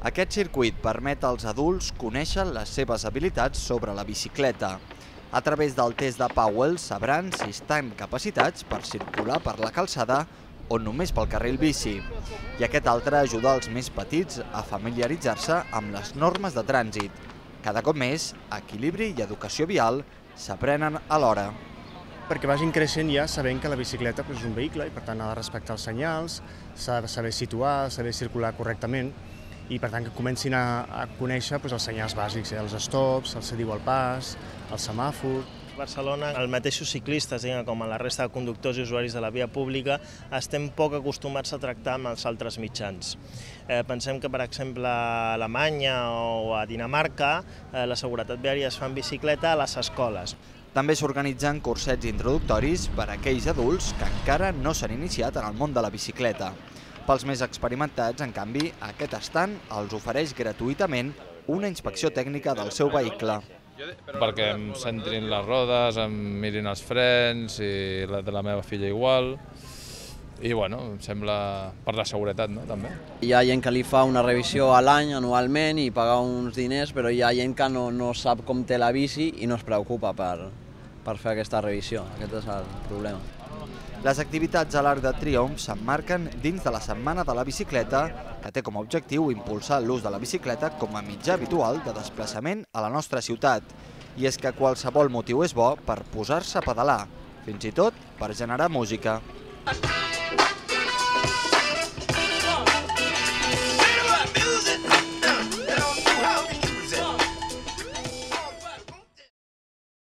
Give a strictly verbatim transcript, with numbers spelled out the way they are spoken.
Aquest circuit permet als adults conèixer les seves habilitats sobre la bicicleta. A través del test de Powell sabran si estan capacitats per circular per la calçada o només pel carril bici. I aquest altre ajuda els més petits a familiaritzar-se amb les normes de trànsit. Cada cop més, equilibri i educació vial s'aprenen alhora. Perquè vagin creixent ja sabent que la bicicleta és un vehicle i per tant ha de respectar els senyals, s'ha de saber situar, saber circular correctament i per tant que comencin a conèixer els senyals bàsics, els stops, el se diu al pas, el semàfor. A Barcelona, els mateixos ciclistes, com a la resta de conductors i usuaris de la via pública, estem poc acostumats a tractar amb els altres mitjans. Pensem que, per exemple, a Alemanya o a Dinamarca, la seguretat viària es fa en bicicleta a les escoles. També s'organitzen cursets introductoris per a aquells adults que encara no s'han iniciat en el món de la bicicleta. Pels més experimentats, en canvi, aquest estand els ofereix gratuïtament una inspecció tècnica del seu vehicle. Perquè em centrin les rodes, em mirin els frens i la de la meva filla igual. I bueno, em sembla per la seguretat, no, també. Hi ha gent que li fa una revisió a l'any, anualment, i paga uns diners, però hi ha gent que no, no sap com té la bici i no es preocupa per, per fer aquesta revisió. Aquest és el problema. Les activitats a l'Arc de Triomf s'emmarquen dins de la Setmana de la Bicicleta, que té com a objectiu impulsar l'ús de la bicicleta com a mitjà habitual de desplaçament a la nostra ciutat. I és que qualsevol motiu és bo per posar-se a pedalar, fins i tot per generar música.